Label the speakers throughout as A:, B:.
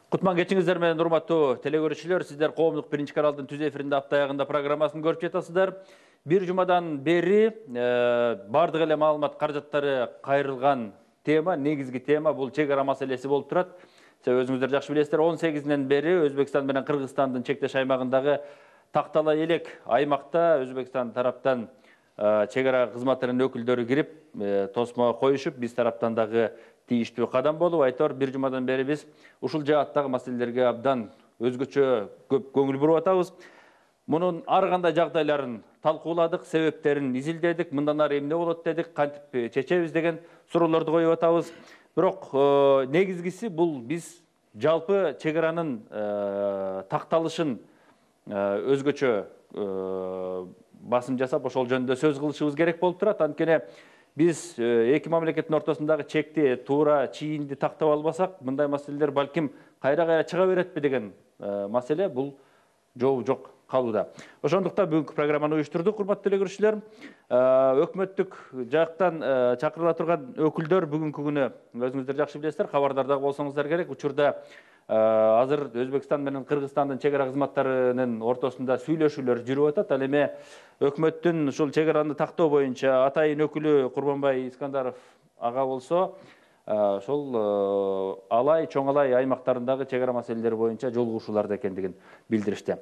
A: Кутман кечиңиздер менен урматтуу телекөрүүчүлөр, сиздер коомдук биринчи каналдын түз эфиринде апта аягында программасын көрүп жатасыздар. Бир жумадан бери бардык эле маалымат каражаттары кайрылган тема, негизги тема бул чек ара маселеси болуп турат. Өзүңүздөр жакшы билесиздер, 18-ден бери Өзбекстан менен Кыргызстандын чектеш аймагындагы Тактала элек аймакта Өзбекстан тараптан чек ара кызматынын өкүлдөрү кирип, тосмо коюшуп, биз тараптан дагы тийиштүү кадам болуп, айтор бир жумадан бери биз ушул жааттагы маселелерге абдан өзгөчө көп көңүл буруп атабыз. Мунун ар кандай жагдайларын талкууладык, себептерин изилдедик, мындан ары эмне болот дедик, кантип чечебиз деген суроолорду коюп атабыз. Бирок негизгиси бул биз жалпы чек аранын такталышын өзгөчө басым жасап, ошол жөнүндө сөз кылышыбыз керек болуп турат. Анткени биз эки мамлекеттин ортосундагы чекти туура чийинди тактап албасак, мындай маселелер балким кайра чыга беретпи деген маселе бул жообу жок калууда. Ошондуктан бүгүнкү программаны уюштурдук, урматтуу телекөрүүчүлөр. Өкмөттүк жактан чакырыла турган өкүлдөр бүгүнкү күнү өзүңүздөр жакшы билесиздер, кабардар дагы болсоңуздар керек. Учурда азыр Өзбекстан менен Кыргызстандын чек ара кызматтарынын ортосунда сүйлөшүүлөр жүрүп атат. Ал эми өкмөттүн ушул чек араны тактоо боюнча атайын өкүлү Курманбай Искандаров ага болсо, ошол Алай, Чоң Алай аймактарындагы чек ара маселелери боюнча жолугушууларда экендигин билдиришти.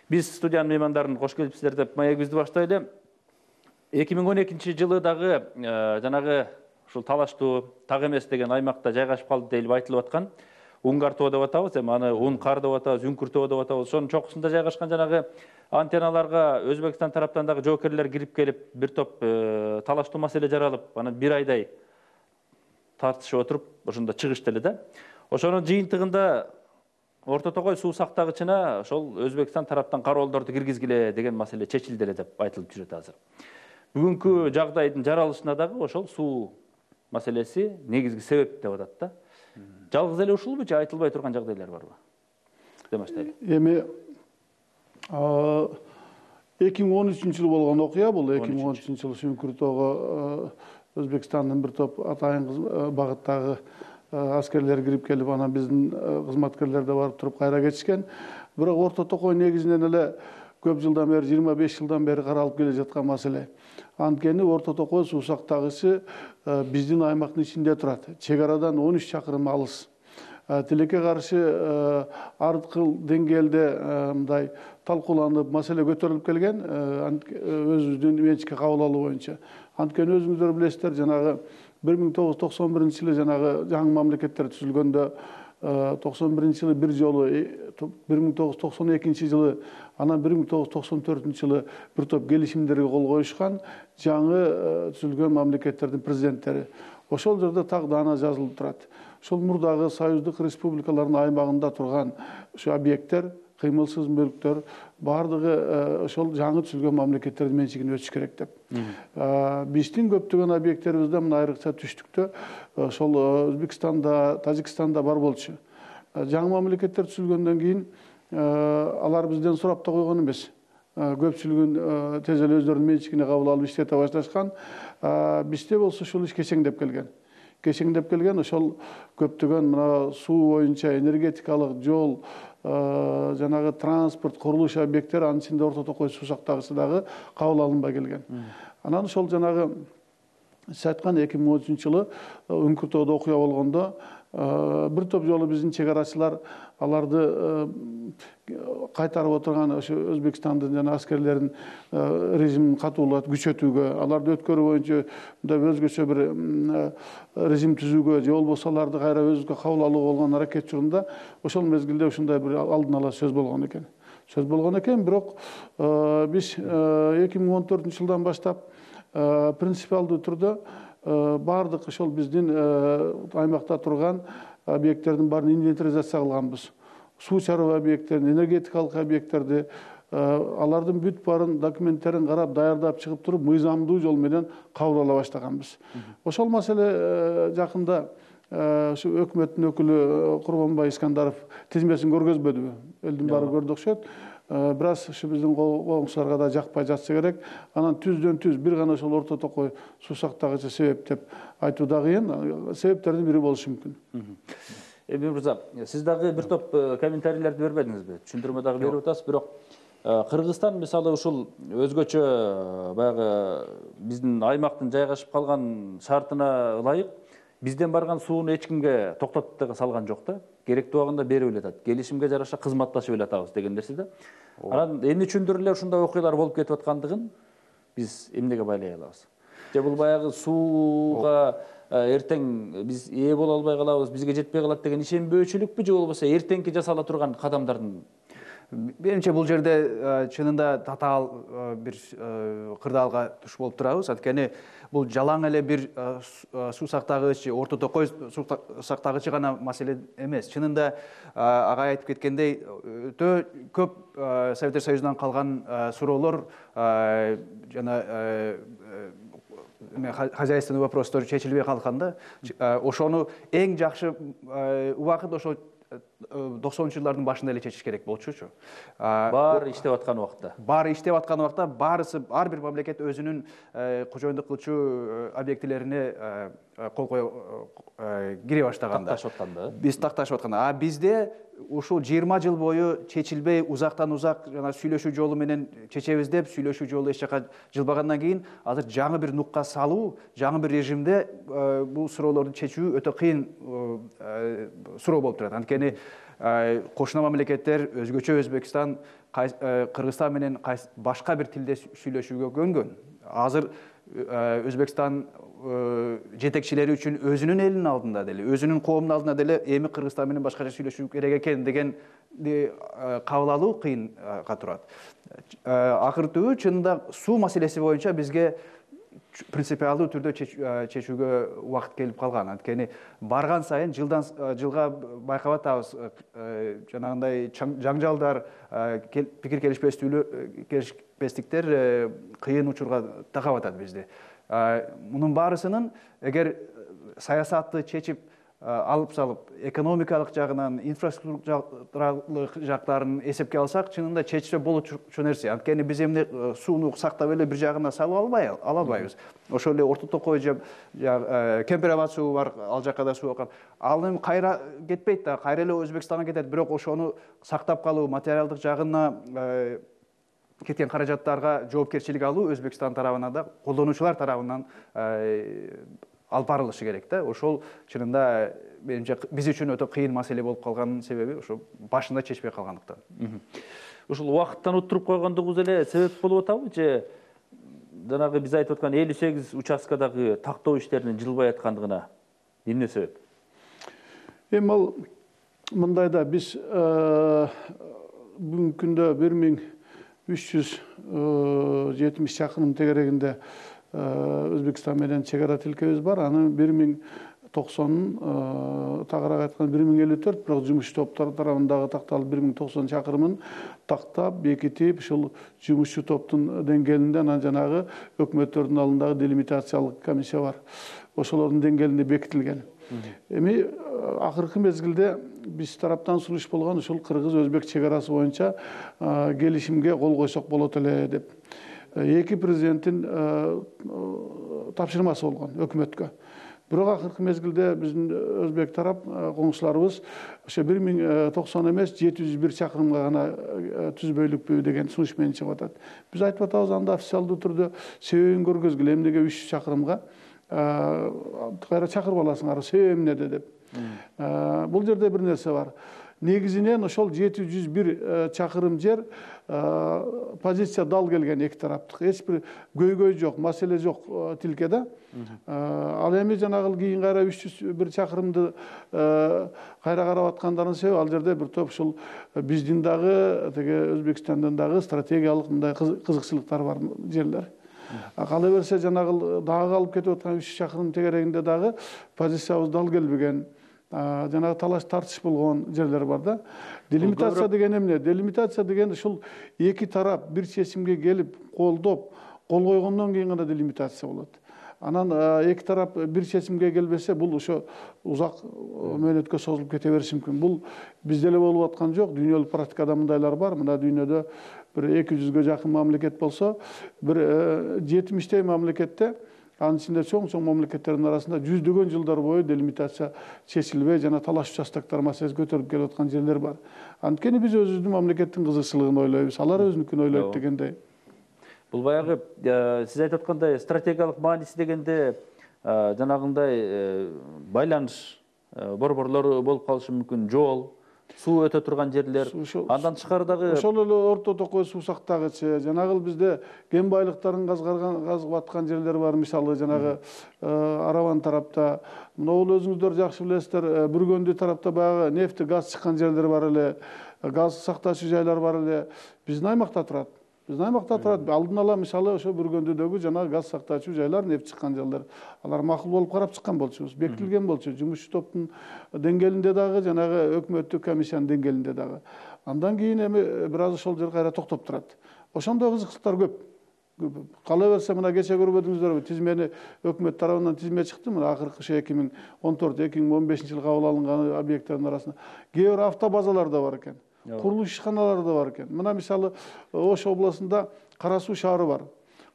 A: Биз студиянын меймандарын кош келипсиздер деп маегибизди баштайлы. 2012 жылы дагы жанагы ушул талаштуу так эмес деген аймакта жайгашып калды деп айтылып аткан. Унгар тоо деп атабыз, эми аны Ункар деп атабыз, Үңкүр тоо деп атабыз. Ошонун чокусунда жайгашкан жанагы антенналарга Өзбекстан тараптан дагы жоокерлер кирип келип, бир топ талаштуу маселе жаралып, анан бир айдай тартышып отуруп, ошондо чыгышты эле да. Ошонун жыйынтыгында Орто Токой суу сактагычына ошол Өзбекстан тараптан кароолдорду киргизгиле деген маселе чечилди эле деп айтылып жүрөт азыр. Бүгүнкү жагдайдын жаралышына дагы ошол суу маселеси негизги себеп деп атат да. Жалгыз эле ушулбу же айтылбай турган жагдайлар барбы? Демаштайлы.
B: Эми 2013-жылы болгон окуя бул. 2013-жылы Үңкүр тоого Өзбекстандын бир топ атайын багыттагы аскерлер кирип келип, анан биздин кызматкерлер да барып туруп кайра кетишкен. Бирок Орто Токой негизинен эле көп жылдан бери, 25 жылдан бери каралып келе жаткан маселе. Анткени Орто Токой суу сактагычы биздин аймактын ичинде турат. Чек арадан 13 чакырым алыс. Тилекке каршы ар кыл деңгээлде мындай талкууланып, маселе көтөрүлүп келген, өзүбүздүн менчикке кабыл алуу боюнча. Анткени өзүңүздөр билесиздер, жанагы 1991-жылы жанагы жаңы мамлекеттер түзүлгөндө 91-жылы бир жолу, 1992-жылы, анан 1994-жылы бир топ келишимдерге кол коюшкан жаңы түзүлгөн мамлекеттердин президенттери. Ошол жерде так даана жазылып турат. Ошол мурдагы союздук республикалардын аймагында турган ушу объекттер, кыймылсыз мүлктөр бардыгы ошол жаңы түзүлгөн мамлекеттердин менчигине өтүш керек деп. Биздин көптөгөн объекттерибизде мына айрыкча түштүктө ошол Өзбекстанда, Тажикстанда бар болчу. Жаңы мамлекеттер түзүлгөндөн кийин алар бизден сурап да койгон эмес. Көпчүлүгүн тез эле өздөрүнүн менчигине кабыл алып иштете башташкан. Бизде болсо ушул иш кечеңдеп келген. Ошол көптөгөн мына суу боюнча энергетикалык, жол, жанагы транспорт, курулуш объекттери, анын ичинде Орто Токой суу сактагычы дагы кабыл алынбай келген. Анан ошол жанагы сиз айткан 2013-жылы Үңкүр тоодо окуя болгондо бир топ жолу биздин чек арачылар аларды кайтарып отурган ошо Өзбекстандын жана аскерлерин режимин катуулап күчөтүүгө, аларды өткөрүү боюнча мындай өзгөчө бир режим түзүүгө же болбосо аларды кайра өзүбүзгө кабыл алууга болгон аракет жолунда ошол мезгилде ушундай бир алдын ала сөз болгон экен. Бирок биз 2014-жылдан баштап принципиалдуу түрдө бардык ошол биздин аймакта турган объекттердин баарын инвентаризация кылганбыз. Суу чароо объекттерин, энергетикалык объекттерди, алардын бүт баарын документтерин карап, даярдап чыгып туруп, мыйзамдуу жол менен кабыл ала баштаганбыз. Ошол маселе жакында ушу өкмөттүн өкүлү Курманбай Искандаров тизмесин көргөзбөдүбү? Элдин баары көрдү окшойт. Бирок ушу биздин коңшуларга да жакпай жатса керек. Анан түздөн түз бир гана ошол Орто Токой суу сактагычы себеп деп айтуу да кыйын. Себептердин бири болушу мүмкүн.
A: Эмин мырза, сиз дагы бир топ комментарийлерди бербедиңизби? Түшүндүрмө дагы берип атасыз, бирок Кыргызстан мисалы ушул өзгөчө баягы биздин аймактын жайгашып калган шартына ылайык бизден барган сууну эч кимге токтотуп салган жок да. Керектүү убагында берип эле атат. Келишимге жараша кызматташып эле атабыз деген нерсе да. Анан эмне үчүндүр эле ушундай окуялар болуп кетип аткандыгын биз эмнеге байлай алабыз? Же бул баягы сууга эртең биз ээ боло албай калабыз, бизге жетпей калат деген ишенбөөчүлүкпү же болбосо эртеңки жасала турган кадамдардын?
C: Менимче бул жерде чынында татаал бир кырдаалга туш болуп турабыз. Анткени бул жалаң эле бир суу сактагыч, орто токой суу сактагычы гана маселе эмес. Чынында ага айтып кеткендей, өтө көп Советтер Союзунан калган суроолор жана хозяйственный вопростор чечилбей калганда, ошону эң жакшы убакыт ошо 90-жылдардын башында эле чечиш керек болчучу.
A: Баары иштеп аткан убакта.
C: Баарысы ар бир мамлекет өзүнүн кожоюндук кылчу объектилерине кол кире баштаганда.
A: Такташып атканда.
C: Биз такташып атканда. Бизде ушул 20 жыл бою чечилбей, узактан узак жана сүйлөшүү жолу менен чечебиз деп, сүйлөшүү жолу эч жака жылбагандан кийин азыр жаңы бир нукка салуу, жаңы бир режимде бул суроолорду чечүү өтө кыйын суроо болуп турат. Анткени кошуна мамлекеттер, өзгөчө Өзбекстан, Кыргызстан менен башка бир тилде сүйлөшүүгө көнгөн. Азыр Өзбекстан жетекчилери үчүн өзүнүн элинин алдында деле, өзүнүн коомунун алдында деле эми Кыргызстан менен башкача сүйлөшүү керек экен дегенди кабыл алуу кыйынга турат. Акыры түбү чынында суу маселеси боюнча бизге принципиалдуу түрдө чечүүгө убакыт келип калган. Анткени барган сайын жылдан жылга байкап атабыз, жанагындай жаңжалдар, пикир келишпестиктер кыйын учурга такап атат бизди. Мунун баарысынын эгер саясатты чечип алып салып, экономикалык жагынан, инфраструктуралык жактарын эсепке алсак, чынында чечсе болчу нерсе. Анткени биз эмне сууну сактап эле бир жагына салып албайбыз. Ошол эле орто токой же Кемпирабад суу бар, ал жакка да суу акат. Ал эми кайра кетпейт да, кайра эле Өзбекстанга кетет. Бирок ошону сактап калуу, материалдык жагына кеткен каражаттарга жоопкерчилик алуу Өзбекстан тарабынан да, колдонуучулар тарабынан алып барылышы керек да. Ошол чынында менимче биз үчүн өтө кыйын маселе болуп калганын себеби ошо башында чечпей калгандыктан.
A: Ушул убакыттан уттуруп койгондугубуз эле себеп болуп атабы же жанагы биз айтып аткан 58 участкадагы тактоо иштеринин жылбай аткандыгына эмне себеп?
B: Эми ал мындай да, биз бүгүнкү күндө 1370 чакырым тегерегинде Өзбекстан менен чегара тилкебиз бар. Анын 1090 тагыраак айтканда 1054, бирок жумушчу топтор тарабындагы такталып 1090 чакырымын тактап, бекитип, ушул жумушчу топтун деңгээлинде анан жанагы өкмөттөрдүн алдындагы делимитациялык комиссия бар. Ошолордун деңгээлинде бекитилген. Эми акыркы мезгилде биз тараптан сунуш болгон ушул кыргыз-өзбек чегарасы боюнча келишимге кол койсок болот эле деп. Эки президенттин тапшырмасы болгон өкмөткө. Бирок акыркы мезгилде биздин өзбек тарап коңшуларыбыз ошо 1090 эмес 701 чакырымга гана түзбөйлүкпү деген сунуш менен чыгып атат. Биз айтып атабыз, анда официалдуу түрдө себебин көргөзгүлө, эмнеге 300 чакырымга кайра чакырып аласыңар, себеби эмнеде деп. Бул жерде бир нерсе бар. Негизинен ошол 701 чакырым жер позиция дал келген эки тараптык. Эч бир көйгөй жок, маселе жок тилкеде. Ал эми жанагы кийин кайра 301 чакырымды кайра карап аткандардын себеби ал жерде бир топ ушул биздин дагы, теге Өзбекстандын дагы стратегиялык мындай кызыкчылыктар бар жерлер. Кала берсе жанагы дагы алып кетип аткан 300 чакырым тегерегинде дагы позициябыз дал келбеген, жанагы талаш тартыш болгон жерлер бар да. Делимитация деген эмне? Делимитация деген ушул эки тарап бир чечимге келип, колдоп, кол койгондон кийин гана делимитация болот. Анан эки тарап бир чечимге келбесе, бул ошо узак мөөнөткө созулуп кете бериши мүмкүн. Бул бизде эле болуп аткан жок, дүйнөлүк практикада мындайлар бар. Мына дүйнөдө бир 200ге жакын мамлекет болсо, бир 70 мамлекетте Анын ичинде чоң мамлекеттердин арасында жүздөгөн жылдар бою делимитация чечилбей жана талаш участоктор маселеси көтөрүлүп келип аткан жерлер бар. Анткени биз өзүбүздүн мамлекеттин кызыкчылыгын ойлойбуз, алар өзүнүкүн ойлойт дегендей.
A: Бул баягы сиз айтып аткандай стратегиялык мааниси дегенде жанагындай байланыш борборлору болуп калышы мүмкүн, жол, суу өтө турган жерлер, андан тышкары дагы
B: ошол эле орто токой суусактагычы, жанагы бизде кен байлыктарын казып аткан жерлер бар. Мисалы жанагы Араван тарапта, могул өзүңүздөр жакшы билесиздер, Бүргөндү тарапта баягы нефти, газ чыккан жерлер бар эле, газ сактаочу жайлар бар эле. Биздин аймакта турат. Алдын ала мисалы ошо Бүргөндүдөгү жанагы газ сактаочу жайлар, нефть чыккан жерлер, алар макул болуп карап чыккан болчубуз, бекитилген болчу. Жумушчу топтун деңгээлинде дагы, жанагы өкмөттүк комиссиянын деңгээлинде дагы. Андан кийин эми бир аз ошол жер кайра токтоп турат. Ошондой кызыкчылыктар көп. Кала берсе, мына кече көрбөдүңүздөрбү, тизмени өкмөт тарабынан тизме чыкты, мына акыркы 2014-2015 жылы кабыл алынган объекттердин арасында. Кээ бир автобазалар да бар экен. Курулуш ишканалары да бар экен. Мына мисалы Ош областында Кара Суу шаары бар.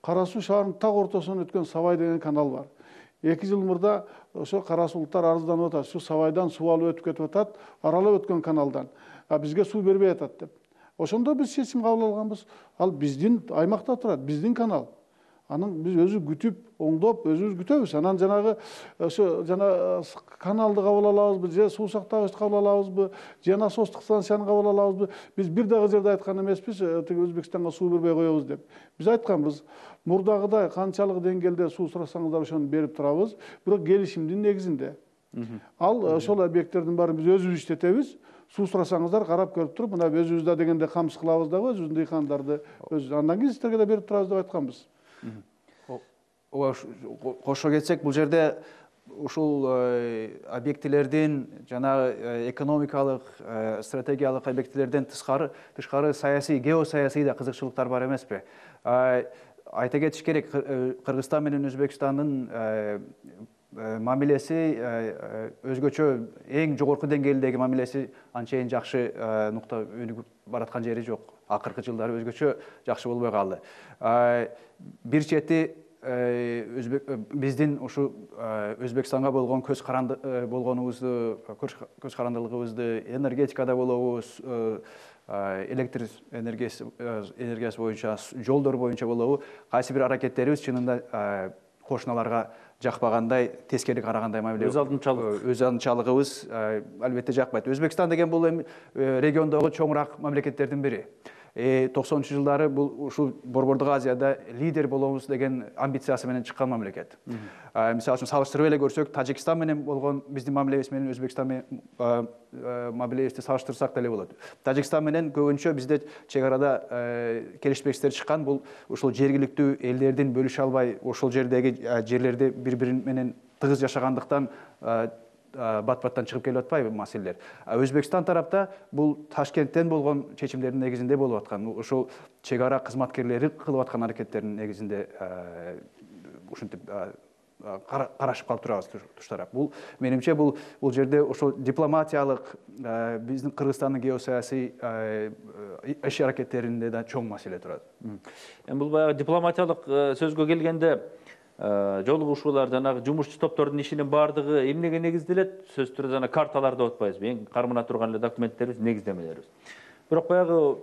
B: Кара Суу шаарынын так ортосунан өткөн Сабай деген канал бар. 2 жыл мурда ошо кара суулуктар арызданып атат. Şu Сабайдан суу алып өтүп кетип атат, аралап өткөн каналдан. Бизге суу бербей атат деп. Ошондо биз чечим кабыл алганбыз. Ал биздин аймакта турат, биздин канал. Анын биз өзү күтүп, оңдоп, өзүбүз күтөбүз. Анан жанагы ошо жана каналды кабыл алабызбы, же суу сактагычты кабыл алабызбы, же насостук станцияны кабыл алабызбы? Биз бир дагы жерде айткан эмеспиз, тиги Өзбекстанга суу бербей коебуз деп. Биз айтканбыз, мурдагыдай канчалык деңгээлде суу сурасаңыздар ошону берип турабыз, бирок келишимдин негизинде. Ал ошол объекттердин баарын биз өзүбүз иштетебиз. Суу сурасаңыздар карап көрүп туруп, мына өзүбүз да дегенде камсыз кылабыз дагы, өзүбүздүн дыйкандарды өзүбүз. Андан кийин сиздерге да берип турабыз деп айтканбыз.
C: Кошо кетсек, бул жерде ушул объектилердин жана экономикалык, стратегиялык объектилерден тышкары саясий, геосаясий да кызыкчылыктар бар эмеспи? Айта кетиш керек, Кыргызстан менен Өзбекстандын мамилеси өзгөчө, эң жогорку деңгээлдеги мамилеси анчейин жакшы нукта өнүгүп бараткан жери жок. Акыркы жылдары өзгөчө жакшы болбой калды. Бир чети биздин ушу Өзбекстанга болгон көз карандылыгыбызды энергетикада болобуз, электр энергиясы боюнча, жолдор боюнча болобу, кайсы бир аракеттерибиз чынында кошуналарга жакпагандай, тескери карагандай мамиле. Өз алдынчалыгыбыз албетте жакпайт. Өзбекстан деген бул региондогу чоңураак мамлекеттердин бири. 90-чы жылдары бул ушул Борбордук Азияда лидер болобуз деген амбициясы менен чыккан мамлекет. Мисалы үчүн салыштырып эле көрсөк, Тажикстан менен болгон биздин мамилебиз менен Өзбекстан менен мамилебизди салыштырсак деле болот. Тажикстан менен көбүнчө бизде чек арада келишпестер чыккан, бул ушул жергиликтүү элдердин бөлүшө албай, ошол жердеги жерлерди бири-бири менен тыгыз жашагандыктан бат-баттан чыгып келип атпайбы маселелер. Өзбекстан тарапта бул Ташкенттен болгон чечимдердин негизинде болуп аткан, ошол чек ара кызматкерлери кылып аткан аракеттердин негизинде ушинтип карашып калып турабыз туштарак. Бул менимче бул жерде ошол дипломатиялык, биздин Кыргызстандын геосаясий иш аракеттеринде да чоң маселе турат.
A: Бул баягы дипломатиялык сөзгө келгенде жолугушуулар, жанагы жумушчу топтордун ишинин баардыгы эмнеге негизделет? Сөзсүз түрдө жана карталарда отпайбызбы? Эң кармана турган эле документтерибиз, негиздемелерибиз. Бирок баягы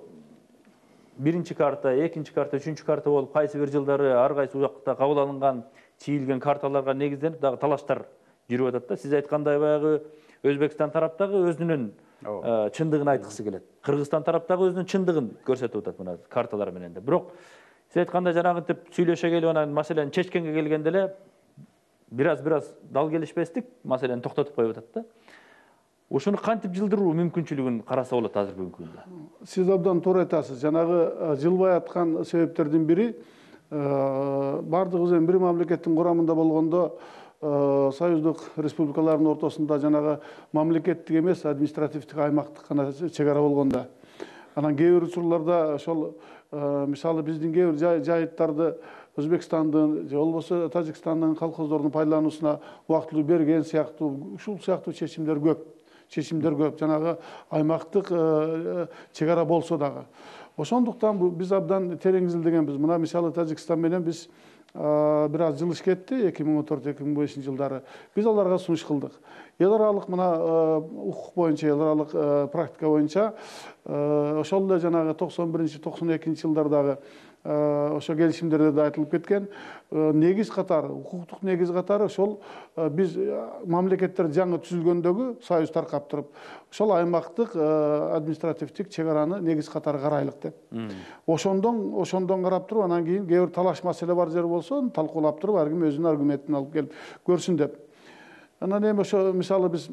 A: биринчи карта, экинчи карта, үчүнчү карта болуп кайсы бир жылдары ар кайсы убакта кабыл алынган, чийилген карталарга негизденип дагы талаштар жүрүп атат да. Сиз айткандай баягы Өзбекстан тараптагы өзүнүн чындыгын айткысы келет. Кыргызстан тараптагы өзүнүн чындыгын көрсөтүп атат мына карталар менен да. Бирок сиз айткандай жанагынтип сүйлөшө келип анан маселени чечкенге келгенде эле бир аз дал келишпестик маселени токтотуп коюп атат да. Ушуну кантип жылдыруу мүмкүнчүлүгүн караса болот азыр бүгүнкү күндө?
B: Сиз абдан туура айтасыз. Жанагы жылбай аткан себептердин бири бардыгыбыз эми бир мамлекеттин курамында болгондо союздук республикалардын ортосунда жанагы мамлекеттик эмес, административдик аймактык гана чек ара болгондо. Анан кээ бир учурларда ошол мисалы биздин кээ бир жайыттарды Өзбекстандын же болбосо Тажикстандын колхоздордун пайдалануусуна убактылуу берген сыяктуу, ушул сыяктуу чечимдер көп. Жанагы аймактык чек ара болсо дагы. Ошондуктан биз абдан терең изилдегенбиз. Мына мисалы Тажикстан менен биз бир аз жылыш кетти 2014-2015 жылдары. Биз аларга сунуш кылдык. Эл аралык мына укук боюнча, эл аралык практика боюнча ошол эле жанагы 91-92 жылдардагы ошо келишимдерде да айтылып кеткен негиз катары, укуктук негиз катары ошол биз мамлекеттер жаңы түзүлгөндөгү союз таркап туруп, ошол аймактык административдик чек араны негиз катары карайлык деп. Ошондон карап туруп, анан кийин кээ бир талаш маселе бар жер болсо, талкуулап туруп, ар ким өзүнүн аргументин алып келип көрсүн деп. Анан эми ошо мисалы биз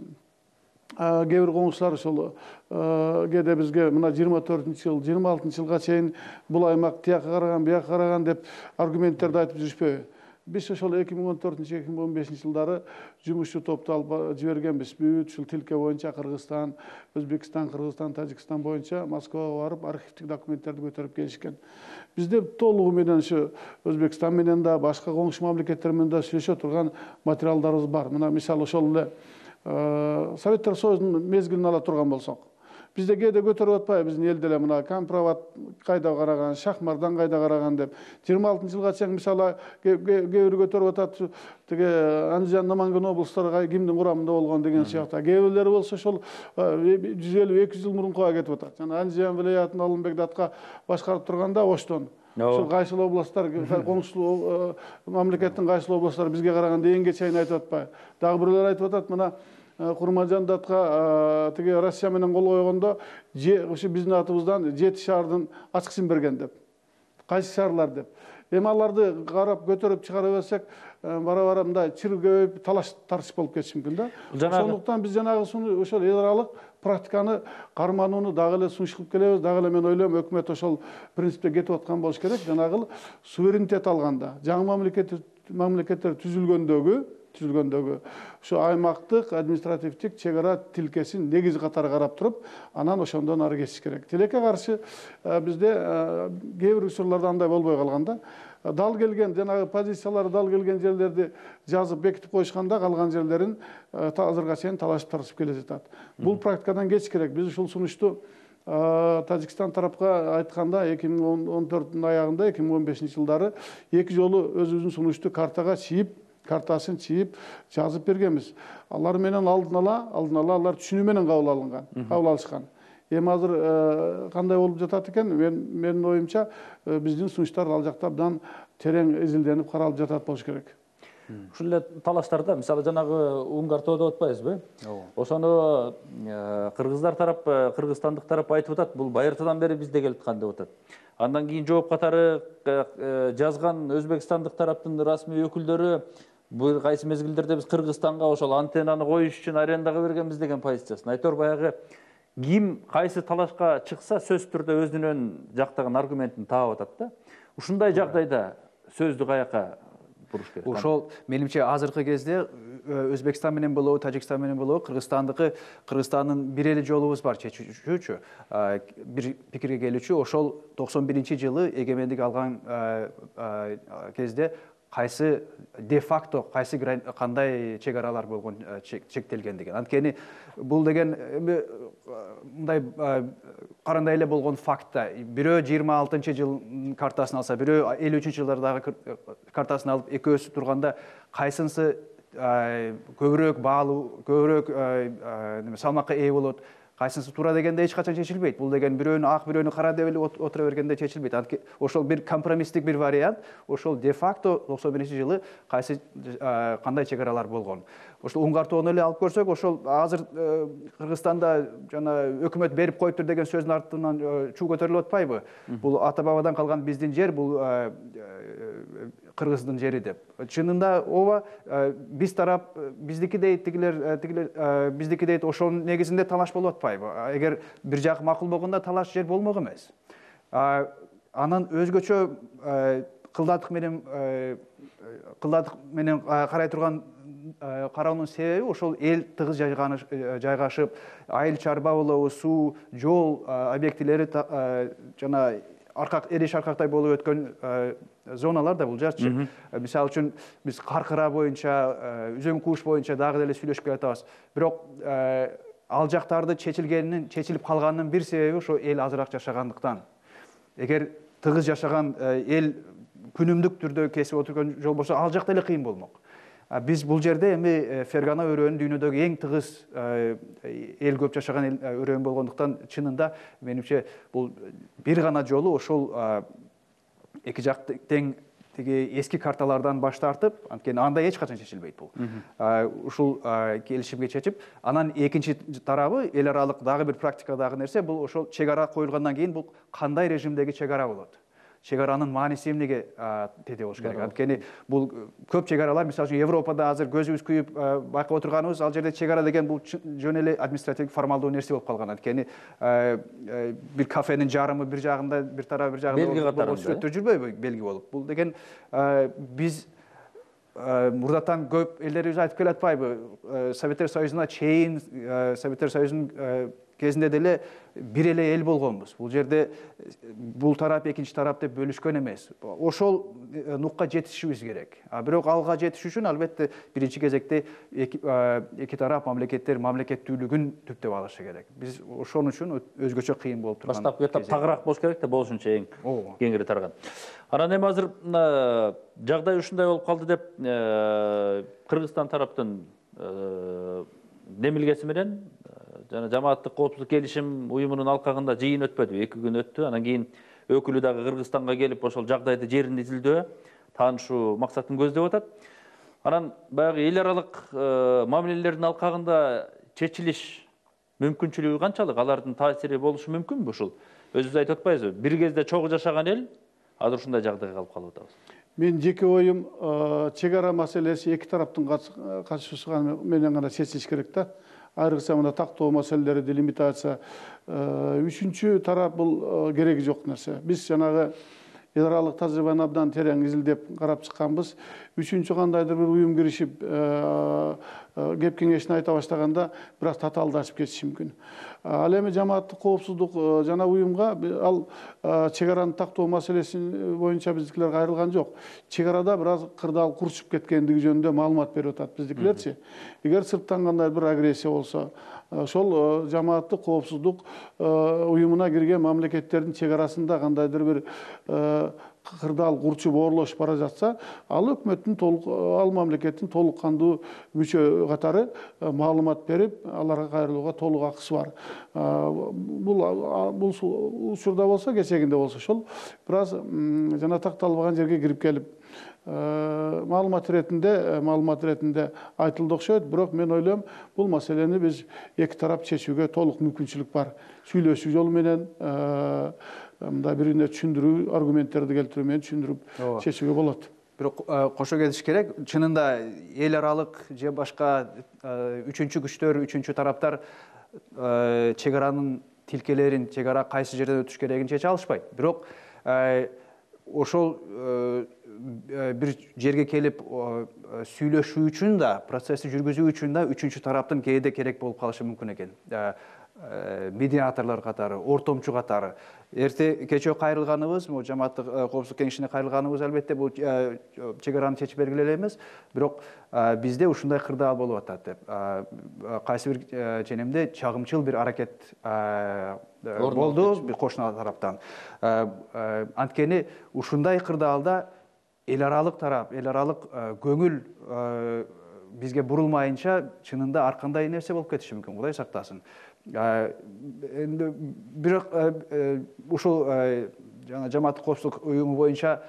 B: кээ бир коңшулар ошол кээде бизге мына 24-жыл, 26-жылга чейин бул аймак тияка караган, бияка караган деп аргументтерди айтып жүрүшпөйбү. Биз ошол 2014-2015 жылдары жумушчу топту алып жибергенбиз. Бүт ушул тилке боюнча Кыргызстан, Өзбекстан, Кыргызстан, Тажикстан боюнча Москвага барып архивдик документтерди көтөрүп келишкен. Бизде толугу менен ушу Өзбекстан менен да, башка коңшу мамлекеттер менен да сүйлөшө турган материалдарыбыз бар. Мына мисалы ошол эле Советтер Союзунун мезгилин ала турган болсок, бизде кээде көтөрүп атпайбы биздин элде эле мына Кампроват кайда караган, Шахмардан кайда караган деп. 26-жылга чейин мисалы кээ бир көтөрүп атат, тиги Андижан, Наманган облустары кимдин курамында болгон деген сыяктуу. Кээ бирлери болсо ошол 150-200 жыл мурункуга кетип атат. Жана Андижан вилаятын Алымбек Датка башкарып турганда Оштон. Ошол кайсыл областтар, коңшу мамлекеттин кайсыл областтары бизге караганда эң чейин айтып атпайбы. Дагы бирлер айтып атат, мына Курманжан Датка тиги Россия менен кол койгондо ушу биздин атыбыздан 7 шаардын ачкычын берген деп. Кайсы шаарлар деп. Эми аларды карап көтөрүп чыгара берсек, бара-бара мындай чыр көбөйүп талаш тартыш болуп кетиши мүмкүн да. Ошондуктан биз жанагы ошол эл аралык практиканы карманууну дагы эле сунуш кылып келебиз. Дагы эле мен ойлойм, өкмөт ошол принципте кетип аткан болуш керек. Жанагы суверенитет алганда, жаңы мамлекеттер түзүлгөндөгү ушу аймактык административдик чек ара тилкесин негиз катары карап туруп, анан ошондон ары кетиш керек. Тилекке каршы бизде кээ бир учурларда андай болбой калганда, дал келген жанагы позициялары дал келген жерлерди жазып бекитип коюшканда, калган жерлерин азырга чейин талашып тартышып келе жатат. Бул практикадан кетиш керек. Биз ушул сунушту Тажикстан тарапка айтканда 2014-дун аягында 2015 жылдары эки жолу өзүбүздүн сунушту картасын чийип жазып бергенбиз. Алар менен алдын ала алар түшүнүү менен кабыл алышкан. Эми азыр кандай болуп жатат экен? Менин оюмча биздин сунуштар ал жакта абдан терең изилденип каралып жатат болуш керек.
A: Ушул эле талаштарда мисалы жанагы Унгар тоо деп атпайбызбы? Ошону кыргыздар тарап, кыргызстандык тарап айтып атат, бул байыртадан бери бизде келип аткан деп атат. Андан кийин жооп катары жазган Өзбекстандык тараптын расмий өкүлдөрү бул кайсы мезгилдерде биз Кыргызстанга ошол антеннаны коюш үчүн арендага бергенбиз деген позициясын. Айтор баягы ким кайсы талашка чыкса сөзсүз түрдө өзүнүн жактаган аргументин таап атат да. Ушундай жагдайда сөздү каяка буруш керек?
C: Ошол менимче азыркы кезде Өзбекстан менен болобу, Тажикстан менен болобу, Кыргызстандын бир эле жолубуз бар чечүүчү, бир пикирге келүүчү. Ошол 91-жылы эгемендик алган кезде кайсы де-факто, кайсы кандай чек аралар болгон чектелген деген. Анткени бул деген мындай карандай эле болгон факт да. Бирөө 26-жыл картасын алса, бирөө 53-жылдардагы картасын алып, экөөсү турганда кайсынысы көбүрөөк баалуу, көбүрөөк салмакка ээ болот, кайсынысы туура дегенде эч качан чечилбейт. Бул деген бирөөнү ак, бирөөнү кара деп эле отура бергенде чечилбейт. Ошол бир компромисстик бир вариант. Ошол де-факто 91-жылы кайсы кандай чек аралар болгон. Ошол Унгар тоону эле алып көрсөк, ошол азыр Кыргызстанда жана өкмөт берип коюптур деген сөздүн артынан чуу көтөрүлүп атпайбы? Бул ата бабадан калган биздин жер, бул Кыргыздын жери деп. Чынында ооба, биз тарап биздики дейт, тигилер биздики дейт, ошонун негизинде талаш болуп атпайбы? Эгер бир жак макул болгондо талаш жер болмок эмес. Анан өзгөчө кылдатык менен карай турган кароонун себеби ошол эл тыгыз жайгашып, айыл чарба болобу, суу, жол объектилери жана эриш аркактай болуп өткөн зоналар да бул жерчи. Мисалы үчүн биз Каркыра боюнча, Үзөң Кууш боюнча дагы деле сүйлөшүп келатабыз. Бирок ал жактарды чечилип калганынын бир себеби ошо эл азыраак жашагандыктан. Эгер тыгыз жашаган эл күнүмдүк түрдө кесип отурган жол болсо ал жакта эле кыйын болмок. Биз бул жерде эми Фергана өрөөнү дүйнөдөгү эң тыгыз эл көп жашаган өрөөн болгондуктан чынында менимче бул бир гана жолу ошол эки жак тең тиги эски карталардан баш тартып, анткени анда эч качан чечилбейт бул. Ушул келишимге чечип, анан экинчи тарабы эл аралык дагы бир практикадагы нерсе бул ошол чек ара коюлгандан кийин бул кандай режимдеги чек ара болот. Чек аранын мааниси эмнеге тете болуш керек? Анткени бул көп чек аралар, мисалы үчүн Европада азыр көзүбүз күйүп байкап отурганыбыз, ал жерде чек ара деген бул жөн эле административдик формалдуу нерсе болуп калган. Анткени бир кафенин жарымы бир жагында, бир тарабы бир жагында
A: белги катарында
C: сүрөттө жүрбөйбү белги болуп. Бул деген биз мурдатан көп элдерибиз айтып келатпайбы? Советтер Союзуна чейин, Советтер Союзунун кезинде деле бир эле эл болгонбуз. Бул жерде бул тарап экинчи тарап деп бөлүшкөн эмес. Ошол нукка жетишибиз керек. Бирок алга жетиш үчүн албетте биринчи кезекте эки тарап мамлекеттүүлүгүн түптөп алышы керек. Биз ошон үчүн өзгөчө кыйын болуп турган.
A: Баштапкы этап тагыраак болуш керек да, болушунча эң кеңири тарган. Анан эми азыр жагдай ушундай болуп калды деп Кыргызстан тараптын демилгеси менен жана жамааттык коопсуздук келишим уюмунун алкагында жыйын өтпөдү, 2 күн өттү. Анан кийин өкүлү дагы Кыргызстанга келип, ошол жагдайды жерин изилдөө, таанышуу максатын көздөп атат. Анан баягы эл аралык мамилелердин алкагында чечилиш мүмкүнчүлүгү канчалык? Алардын таасири болушу мүмкүнбү ушул? Өзүбүз айтып атпайбызбы? Бир кезде чогуу жашаган эл азыр ушундай жагдайга калып калып атабыз.
B: Мен жеке оюм, чек ара маселеси эки тараптын катышуусу менен гана чечилиш керек да. Айрыкча мына тактоо маселелери, делимитация. Үчүнчү тарап бул кереги жок нерсе. Биз жанагы эл аралык тажрыйбаны абдан терең изилдеп карап чыкканбыз. Үчүнчү кандайдыр бир уюм киришип, кеп кеңешин айта баштаганда бир аз татаалдашып кетиши мүмкүн. Ал эми жамааттык коопсуздук жана уюмга ал чек араны тактоо маселеси боюнча биздикилер кайрылган жок. Чек арада бир аз кырдаал курчуп кеткендиги жөнүндө маалымат берип атат биздикилерчи. Эгер сырттан кандай бир агрессия болсо, ошол жамааттык коопсуздук уюмуна кирген мамлекеттердин чек арасында кандайдыр бир кырдаал курчуп оорлошуп бара жатса, ал өкмөттүн ал мамлекеттин толук кандуу мүчө катары маалымат берип, аларга кайрылууга толук акысы бар. Бул учурда болсо, кечегинде болсо ошол бир аз жана такталбаган жерге кирип келип маалымат иретинде айтылды окшойт. Бирок мен ойлойм, бул маселени биз эки тарап чечүүгө толук мүмкүнчүлүк бар. Сүйлөшүү жолу менен, мындай бирине түшүндүрүү, аргументтерди келтирүү менен түшүндүрүп чечүүгө болот.
C: Бирок кошо кетиш керек. Чынында эл аралык же башка үчүнчү күчтөр, үчүнчү тараптар чек аранын тилкелерин, чек ара кайсы жерден өтүш керегин чече алышпайт. Бирок ошол бир жерге келип сүйлөшүү үчүн да, процессти жүргүзүү үчүн да үчүнчү тараптын кээде керек болуп калышы мүмкүн экен. Медиаторлор катары, ортомчу катары. Эрте кечөө кайрылганыбыз, жамааттык коопсуздук кеңешине кайрылганыбыз албетте бул чек араны чечип бергиле эле эмес, бирок бизде ушундай кырдаал болуп атат деп. Кайсы бир ченемде чагымчыл бир аракет болду кошуна тараптан. Анткени ушундай кырдаалда эл аралык тарап, эл аралык көңүл бизге бурулмайынча чынында ар кандай нерсе болуп кетиши мүмкүн, Кудай сактасын. Эми бирок ушул жана жамааттык коопсуздук уюму боюнча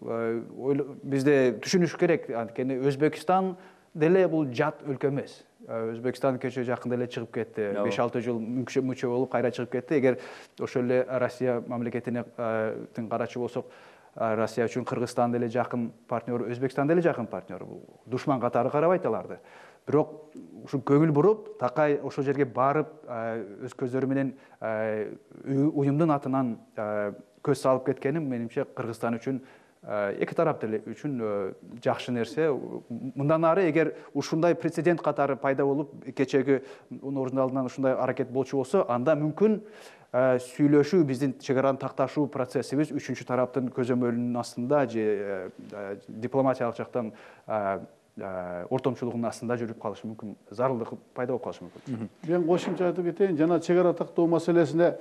C: бизде түшүнүш керек, анткени Өзбекстан деле бул жат өлкө эмес. Өзбекстан кечээ жакында эле чыгып кетти, 5-6 жыл мүчө болуп кайра чыгып кетти. Эгер ошол эле Россия мамлекетине карачы болсок, Россия үчүн Кыргызстан деле жакын партнер, Өзбекстан деле жакын партнер. Душман катары карабайт аларды. Бирок ушу көңүл буруп, такай ошол жерге барып, өз көздөрү менен уюмдун атынан көз салып кеткени менимче Кыргызстан үчүн, эки тарап деле үчүн жакшы нерсе. Мындан ары эгер ушундай прецедент катары пайда болуп, кечеги ордун алдынан ушундай аракет болчу болсо, анда мүмкүн сүйлөшүү, биздин чек араны такташуу процессибиз үчүнчү тараптын көзөмөлүнүн астында же дипломатиялык жактан ортомчулугунун астында жүрүп калышы мүмкүн, зарылдык пайда болуп калышы мүмкүн.
B: Мен кошумча айтып кетейин, жана чек ара тактоо маселесине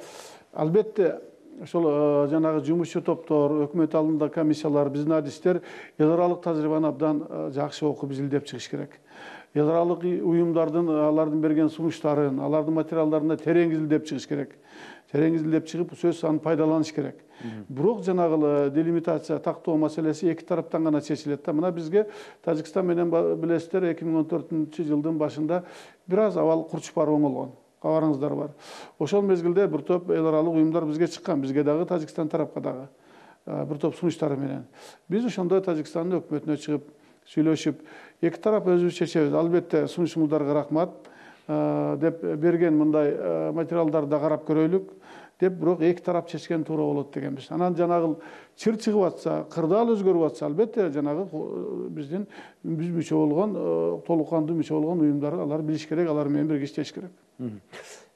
B: албетте ошол жанагы жумушчу топтор, өкмөт алдында комиссиялар, биздин адистер эл аралык тажрыйбаны абдан жакшы окуп изилдеп чыгыш керек. Эл аралык уюмдардын алардын берген сунуштарын, алардын материалдарына терең изилдеп чыгыш керек. Терең изилдеп чыгып, сөзсүз аны пайдаланыш керек. Бирок жанагы делимитация тактоо маселеси эки тараптан гана чечилет да. Мына бизге Тажикстан менен билесиздер 2014-жылдын башында бир аз абал курчуп барып оңолгон. Кабарыңыздар бар. Ошол мезгилде бир топ эл аралык уюмдар бизге чыккан, бизге дагы Тажикстан тарапка дагы бир топ сунуштары менен. Биз ошондо Тажикстандын өкмөтүнө чыгып сүйлөшүп, эки тарап өзүбүз чечебиз. Албетте сунушуңуздарга рахмат деп берген мындай материалдарды карап көрөйлүк деп, бирок эки тарап чечкен туура болот дегенбиз. Анан жанагы чыр чыгып атса, кырдаал өзгөрүп атса, албетте жанагы биздин мүчө болгон, толук кандуу мүчө болгон уюмдар алар билиш керек, алар менен бирге иштеш керек.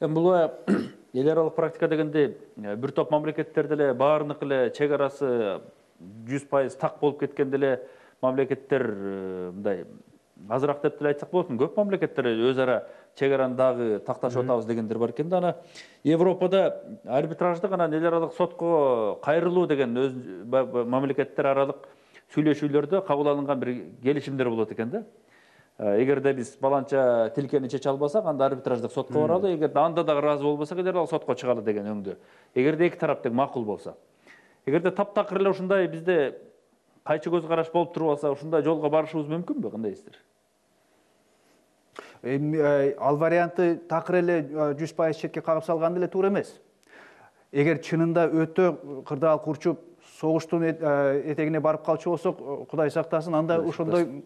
A: Бул эл аралык практика дегенде бир топ мамлекеттерде эле баарыныкы эле чек арасы 100% так болуп кеткен деле мамлекеттер мындай азыраак деп деле айтсак болот. Көп мамлекеттер өз ара чек араны дагы такташып атабыз дегендер бар экен да. Ана Европада арбитраждык анан эл аралык сотко кайрылуу деген өз мамлекеттер аралык сүйлөшүүлөрдө кабыл алынган бир келишимдер болот экен да. Эгерде биз баланча тилкени чече албасак, анда арбитраждык сотко баралы, эгерде анда дагы ыраазы болбосок, эл аралык сотко чыгалы деген өңдө. Эгерде эки тарап тең макул болсо. Эгерде таптакыр эле ушундай бизде кайчы көз караш болуп туруп алса, ушундай жолго барышыбыз мүмкүнбү? Кандай дейсиздер?
C: Ал варианты такыр эле 100% четке кагып салган деле туура эмес. Эгер чынында өтө кырдаал курчуп, согуштун этегине барып калчу болсок, Кудай сактасын, анда ошондой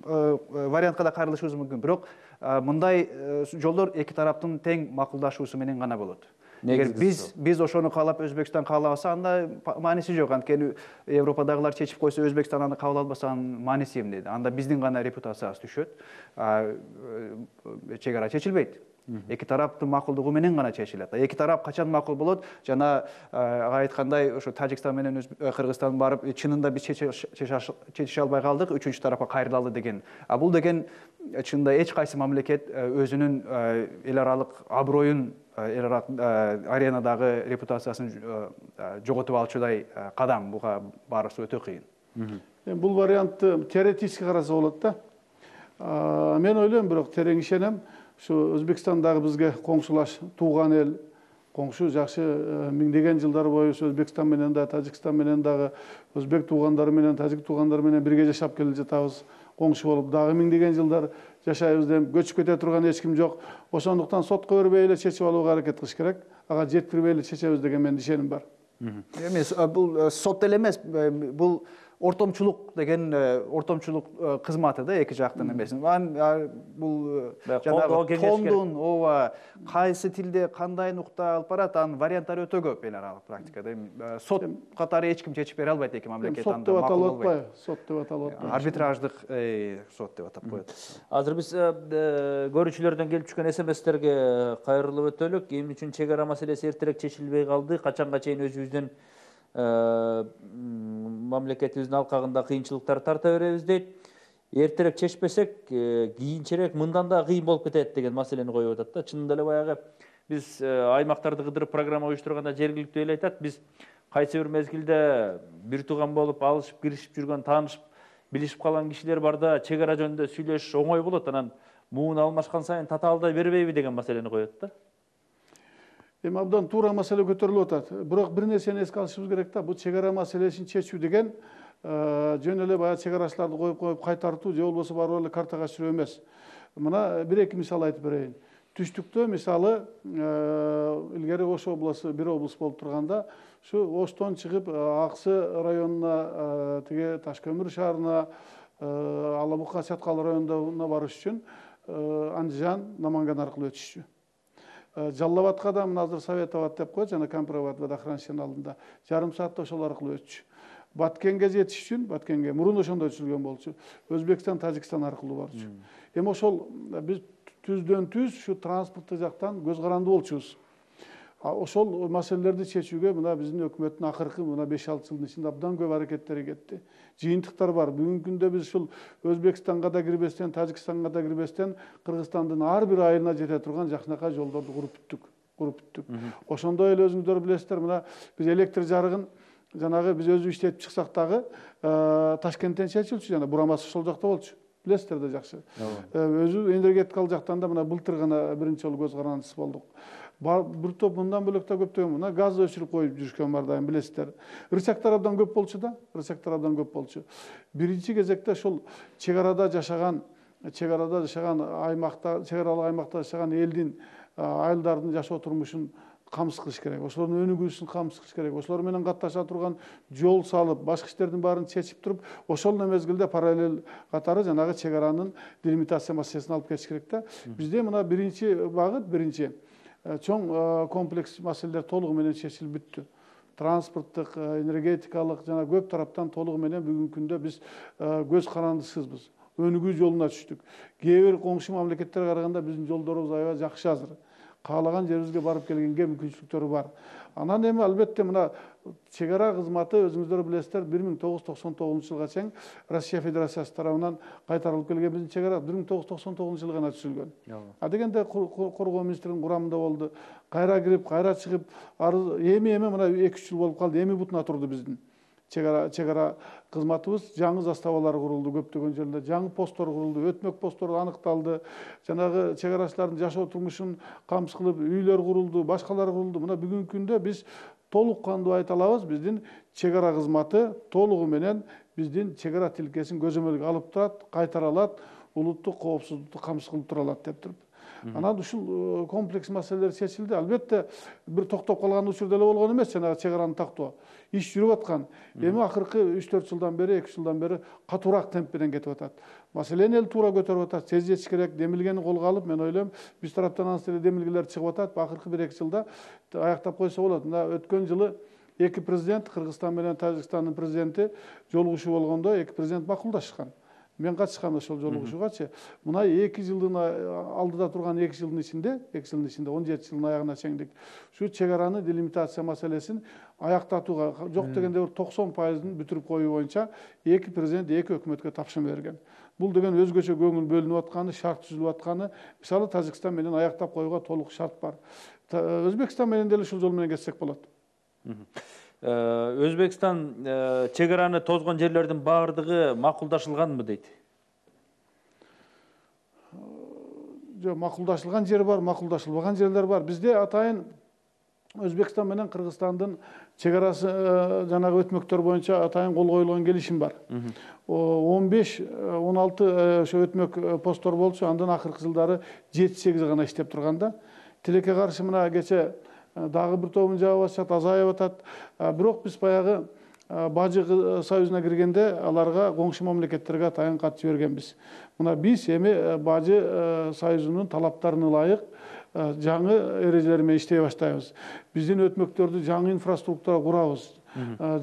C: вариантка да кайрылышыбыз мүмкүн. Бирок мындай жолдор эки тараптын тең макулдашуусу менен гана болот. Эгер биз ошону каалап, Өзбекстан каалабаса, анда мааниси жок. Анткени Европадагылар чечип койсо, Өзбекстан аны кабыл албаса, анын мааниси эмне? Анда биздин гана репутациябыз түшөт. Чек ара чечилбейт. Эки тараптын макулдугу менен гана чечилет. Эки тарап качан макул болот? Жана айткандай, ошо Тажикстан менен Кыргызстан барып, чынында биз чечише албай калдык, үчүнчү тарапка кайрылалы деген. Бул деген чынында эч кайсы мамлекет өзүнүн эл аралык аброюн, эл аралык аренадагы репутациясын жоготуп алчудай кадам. Буга барысы өтө кыйын.
B: Бул вариантты теоретически караса болот да. Мен ойлойм, бирок терең ишенем. Şu Özbekistan dagы бизге коңшулаш, тууган эл, коңшу жакшы миңдеген жылдар бою Өзбекстан менен да, Тажикстан менен дагы, өзбек туугандары менен, тажик туугандары менен бирге жашап келе жатабыз. Коңшу болуп дагы миңдеген жылдар жашайбыз деп көчүп кете турган эч ким жок. Ошондуктан сотко бербей эле чечип алууга аракет кылыш керек. Ага жеткирбей эле чечебиз деген менин ишеним бар.
C: Эмес, бул сот деле эмес, бул ортомчулук деген ортомчулук кызматы да, эки жактын эмес. Бул жанагы тондун, ооба, кайсы тилде кандай нукта алып барат, анын варианттары өтө көп эл аралык практикада. Сот катары эч ким чечип бере албайт, эки мамлекет анда макул болбойт.
B: Сот деп аталып атпайбы?
C: Арбитраждык сот деп атап коет.
A: Азыр биз көрүүчүлөрдөн келип түшкөн СМСтерге кайрылып өтөлүк. Эмне үчүн чек ара маселеси эртерээк чечилбей калды? Качанга чейин өзүбүздүн мамлекетибиздин алкагында кыйынчылыктар тарта беребиз дейт. Эртерээк чечпесек, кийинчерээк мындан да кыйын болуп кетет деген маселени коюп атат да. Чынында эле баягы биз аймактарды кыдырып программа уюштурганда жергиликтүү эл айтат, биз кайсы бир мезгилде бир тууган болуп, алышып, киришип жүргөн, таанышып, билишип калган кишилер барда чек ара жөнүндө сүйлөшүш оңой болот, анан муун алмашкан сайын татаалдай бербейби деген маселени коет да.
B: Эми абдан туура маселе көтөрүлүп атат. Бирок бир нерсени эске алышыбыз керек да, бул чек ара маселесин чечүү деген жөн эле баягы чек арачыларды коюп кайтартуу же болбосо барып эле картага түшүрүү эмес. Мына бир-эки мисал айтып берейин. Түштүктө мисалы илгери Ош облусу бир облус болуп турганда, ушу Оштон чыгып Аксы районуна, тиги Ташкөмүр шаарына, Алабука Чаткал районуна барыш үчүн Андижан, Наманган аркылуу өтүшчү. Жалал Абадка да мына азыр Совет Абад деп коет, жана Кампир Абад водохранилищенин алдында жарым саатта ошол аркылуу өтчү. Баткенге жетиш үчүн, Баткенге мурун ошондой түзүлгөн болчу. Өзбекстан, Тажикстан аркылуу барчу. Эми ошол биз түздөн түз ушу транспорттук жактан көз карандуу болчубуз. Ошол маселелерди чечүүгө мына биздин өкмөттүн акыркы мына 5-6 жылдын ичинде абдан көп аракеттери кетти. Жыйынтыктар бар. Бүгүнкү күндө биз ушул Өзбекстанга да кирбестен, Тажикстанга да кирбестен Кыргызстандын ар бир айылына жете турган жакшынакай жолдорду куруп бүттүк. куруп бүттүк. Ошондой эле өзүңүздөр билесиздер, мына биз электр жарыгын жанагы биз өзү иштетип чыксак дагы Ташкенттен чечилчү, жана бурамасы ошол жакта болчу. Билесиздер да жакшы. Өзү энергетикалык жактан да мына былтыр гана биринчи жолу көз карандысыз болдук. Бир топ мындан бөлөк да көптөгөн мына газ өчүрүп коюп жүрүшкөн бар дайым, билесиздер. Рычагтар абдан көп болчу да, рычагтар абдан көп болчу. Биринчи кезекте ошол чек аралык аймакта жашаган элдин, айылдардын жашоо турмушун камсыз кылыш керек. Ошолордун өнүгүүсүн камсыз кылыш керек. Ошолор менен катташа турган жол салып, башка иштердин баарын чечип туруп, ошол мезгилде параллель катары жанагы чек аранын делимитация маселесин алып кетиш керек да. Бизде мына биринчи багыт, биринчи чоң комплекс маселелер толугу менен чечилип бүттү. Транспорттук, энергетикалык жана көп тараптан толугу менен бүгүнкү күндө биз көз карандысызбыз. Өнүгүү жолуна түштүк. Кээ бир коңшу мамлекеттерге караганда биздин жолдорубуз аябай жакшы азыр. Каалаган жерибизге барып келгенге мүмкүнчүлүктөрү бар. Анан эми албетте мына чек ара кызматы өзүңүздөр билесиздер 1999 жылга чейин Россия Федерациясы тарабынан кайтарылып келген биздин чек ара 1999 жылы гана түзүлгөн. Дегенде коргоо министринин курамында болду. Кайра кирип, кайра чыгып, эми мына 2-3 жыл болуп калды. Эми бутуна турду биздин чек ара кызматыбыз. Жаңы заставалар курулду көптөгөн жерлерде, жаңы посттор курулду, өтмөк посттор аныкталды. Жанагы чек арачылардын жашоо турмушун камсыз кылып үйлөр курулду, башкалар курулду. Мына бүгүнкү күндө биз толук кандуу айта алабыз, биздин чек ара кызматы толугу менен биздин чек ара тилкесин көзөмөлгө алып турат, кайтара алат, улуттук коопсуздукту камсыз кылып тура алат деп туруп. Анан ушул комплекс маселелер чечилди. Албетте бир токтоп калган учур деле болгон эмес, жанагы чек араны тактоо. Иш жүрүп аткан. Эми акыркы 3-4 жылдан бери, 2 жылдан бери катуураак темп менен кетип атат. Маселени эл туура көтөрүп атат. Тез жетиш керек. Демилгени колго алып, мен ойлойм, биз тараптан анысы эле демилгелер чыгып атат. Акыркы 1-2 жылда аяктап койсо болот. Мына өткөн жылы эки президент, Кыргызстан менен Тажикстандын президенти жолугушуу болгондо эки президент макулдашкан. Мен катышкам ошол жолугушуугачы. Мына 2 жылдын алдыда турган 2 жылдын ичинде, 17 жылдын аягына чейин ушу чек араны делимитация маселесин аяктатууга, жок дегенде 90%-ын бүтүрүп коюу боюнча эки президент эки өкмөткө тапшырма берген. Бул деген өзгөчө көңүл бөлүнүп атканы, шарт түзүлүп атканы, мисалы Тажикстан менен аяктап коюуга толук шарт бар. Өзбекстан менен деле ушул жол менен кетсек болот.
A: Өзбекстан чек араны тозгон жерлердин баардыгы макулдашылганбы дейт?
B: Жок, макулдашылган жер бар, макулдашылбаган жерлер бар. Бизде атайын Өзбекстан менен Кыргызстандын чек арасы жанагы өтмөктөр боюнча атайын кол коюлган келишим бар. 15-16 ошо өтмөк посттор болчу, андан акыркы жылдары 7-8 гана иштеп турганда. Тилекке каршы мына кече дагы бир тобун жаап атышат, азайып атат. Бирок биз баягы Бажы союзуна киргенде аларга коңшу мамлекеттерге атайын кат жибергенбиз. Мына биз эми Бажы союзунун талаптарына ылайык жаңы эрежелер менен иштей баштайбыз. Биздин өтмөктөрдү жаңы инфраструктура курабыз.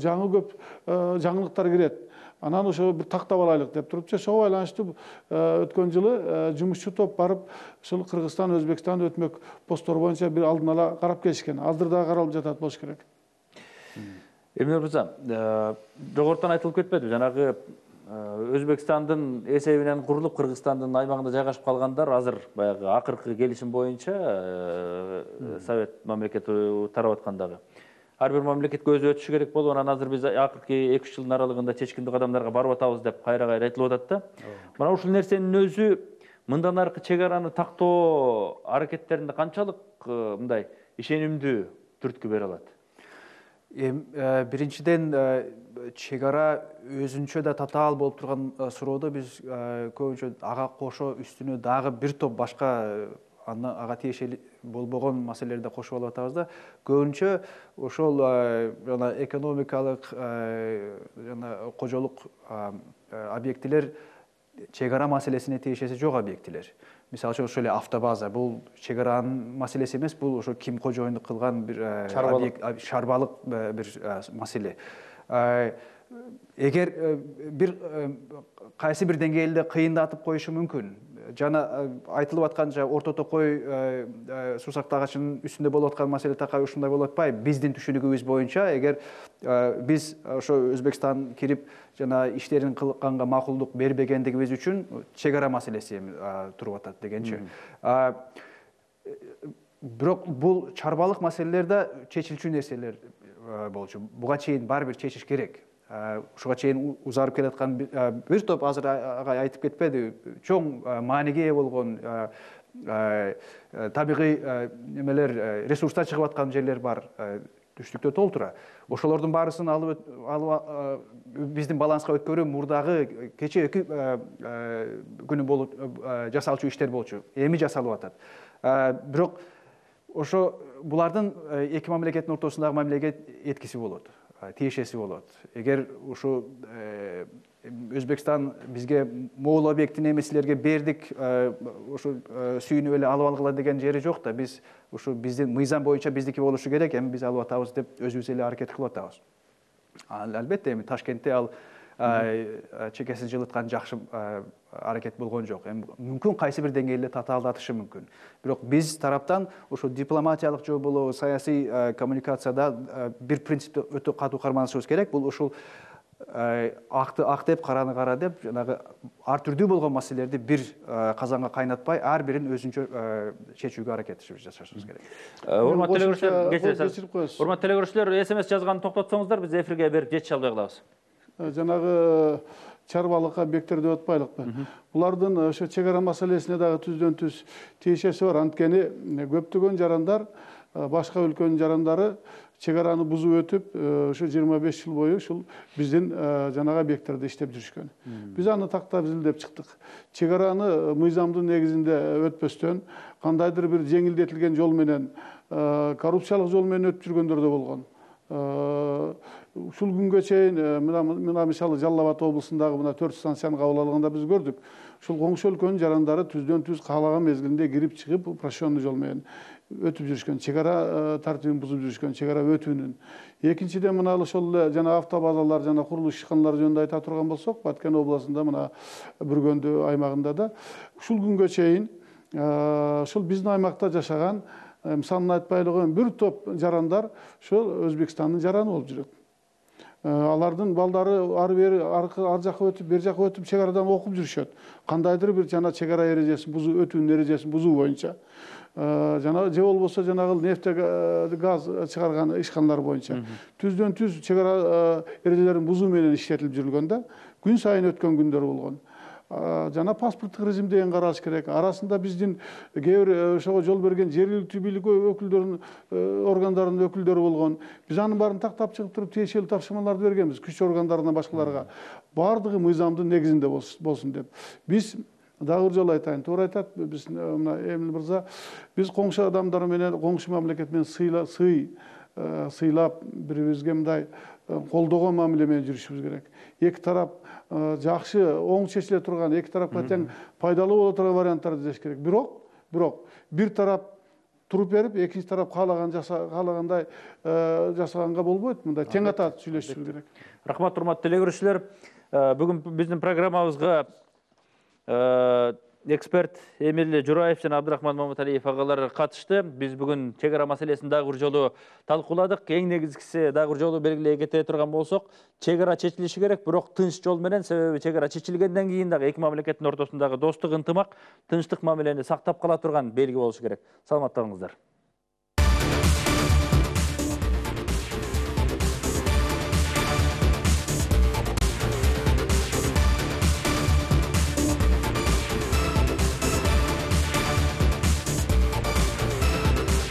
B: Жаңы көп жаңылыктар кирет. Анан ошо бир тактап алайлык деп турупчу. Ошого байланыштуу өткөн жылы жумушчу топ барып ушул Кыргызстан, Өзбекстан өтмөк посттор боюнча бир алдын ала карап келишкен. Азыр дагы каралып жатат болуш керек.
A: Эмне мырза, жогорутан айтылып кетпеди, жанагы Өзбекстандын эсебинен курулуп Кыргызстандын аймагында жайгашып калгандар азыр баягы акыркы келишим боюнча Совет мамлекети тарап аткандагы ар бир мамлекетке өзү өтүшү керек болуп, анан азыр биз акыркы 2-3 жылдын аралыгында чечкиндүү кадамдарга барып атабыз деп кайра-кайра айтылып атат да. Мына ушул нерсенин өзү мындан аркы чек араны тактоо аракеттеринде канчалык мындай ишенимдүү түрткү бере алат?
C: Биринчиден чек ара өзүнчө да татаал болуп турган суроодо биз көбүнчө ага кошо үстүнө дагы бир топ башка ага тиешелүү болбогон маселелерди кошуп алып атабыз да. Көбүнчө ошол жана экономикалык жана кожолук объектилер чек ара маселесине тиешеси жок объектилер. Мисалы үчүн ошол эле автобаза, бул чек аранын маселеси эмес, бул ошо ким кожоюндук кылган бир шарбалык бир маселе. Эгер бир кайсы бир деңгээлде кыйындатып коюшу мүмкүн. Жана айтылып атканча орто токой суусак тагачынын үстүндө болуп аткан маселе такай ушундай болуп атпайбы. Биздин түшүнүгүбүз боюнча, эгер биз ошо Өзбекстан кирип жана иштерин кылганга макулдук бербегендигибиз үчүн чек ара маселеси туруп атат дегенчи. бирок бул чарбалык маселелер да чечилчү нерселер болчу. Буга чейин баары бир чечиш керек. Ушуга чейин узарып келаткан бир топ азыр агай айтып кетпеди, чоң мааниге ээ болгон табигый немелер, ресурстар чыгып аткан жерлер бар, түштүктө толтура. Ошолордун баарысын алып биздин баланска өткөрүү мурдагы кече 2 күнү болуп жасалчу иштер болчу. Эми жасалып атат. Бирок ошо булардын эки мамлекеттин ортосундагы мамилеге эткиси болот, тиешеси болот. Эгер ушу Өзбекстан бизге могул объектин эмесилерге бердик, ушу сүйүнүп эле алып алгыла деген жери жок да. Биз ушу биздин мыйзам боюнча биздики болушу керек, эми биз алып атабыз деп өзүбүз эле аракет кылып атабыз. Албетте эми Ташкентте ал чекесин жылыткан жакшы аракет болгон жок. Эми мүмкүн кайсы бир деңгээлде татаалдатышы мүмкүн. Бирок биз тараптан ушу дипломатиялык жол болобу, саясий коммуникацияда бир принципти өтө катуу карманышыбыз керек. Бул ушул акты ак деп, караны кара деп, жанагы ар түрдүү болгон маселелерди бир казанга кайнатпай, ар бирин өзүнчө чечүүгө аракет жасашыбыз керек.
A: Урматтуу телекөрүүчүлөр, SMS жазганды токтотсоңуздар, биз эфирге берип жетише албай калабыз.
B: Жанагы чарбалык объекттер деп атпайлыкпы. Булардын ошо чек ара маселесине дагы түздөн түз тиешеси бар. Анткени көптөгөн жарандар, башка өлкөнүн жарандары чек араны бузуп өтүп, ошо 25 жыл бою ушул биздин жанагы объекттерде иштеп жүрүшкөн. Биз аны тактап изилдеп чыктык. Чек араны мыйзамдын негизинде өтпөстөн, кандайдыр бир жеңилдетилген жол менен, коррупциялык жол менен өтүп жүргөндөр да болгон. Ушул күнгө чейин мына мисалы Жалал Абад облусундагы мына 4 станцияны кабыл алганда биз көрдүк. Ушул коңшу өлкөнүн жарандары түздөн түз каалаган мезгилинде кирип чыгып, упрощенный жол менен өтүп жүрүшкөн, чек ара тартибин бузуп жүрүшкөн, чек ара өтүүнүн. Экинчиден мына ошол эле жана автобазалар жана курулуш ишканалары жөнүндө айта турган болсок, Баткен областында мына Бүргөндү аймагында да ушул күнгө чейин ушул биздин аймакта жашаган, санын айтпай эле бир топ жарандар ошол Өзбекстандын жараны болуп жүрөт. Алардын балдары ар бери ар жака өтүп, бер жака өтүп чек арадан окуп жүрүшөт. Кандайдыр бир жана чек ара эрежесин бузуу, өтүүнүн эрежесин бузуу боюнча. Жана же болбосо жанагы нефть газ чыгарган ишканалар боюнча. Түздөн түз чек ара эрежелерин бузуу менен иштетилип жүрүлгөн да. Күн сайын өткөн күндөр болгон. Жана паспорттук режим деген каралыш керек. Арасында биздин кээ бир ошого жол берген жергиликтүү бийлик өкүлдөрүнүн органдарынын өкүлдөрү болгон. Биз анын баарын тактап чыгып туруп тиешелүү тапшырмаларды бергенбиз күч органдарына, башкаларга. Бардыгы мыйзамдын негизинде болсун деп. Биз дагы бир жолу айтайын, туура айтат биз мына Эмил мырза, биз коңшу адамдар менен, коңшу мамлекет менен сыйлап бирибизге мындай колдогон мамиле менен жүрүшүбүз керек. Эки тарап жакшы, оң чечиле турган, эки тарапка тең пайдалуу боло турган варианттарды издеш керек. Бирок бир тарап туруп берип, экинчи тарап каалагандай жасаганга болбойт. Мындай тең ата сүйлөшүшүбүз керек.
A: Рахмат, урматтуу телекөрүүчүлөр. Бүгүн биздин программабызга эксперт Эмил Жураев жана Абдырахман Маматалиев агалар катышты. Биз бүгүн чек ара маселесин дагы бир жолу талкууладык. Эң негизгиси дагы бир жолу белгилей кете турган болсок, чек ара чечилиши керек, бирок тынч жол менен. Себеби чек ара чечилгенден кийин дагы эки мамлекеттин ортосундагы достук, ынтымак, тынчтык мамилени сактап кала турган белги болушу керек. Саламатта болуңуздар.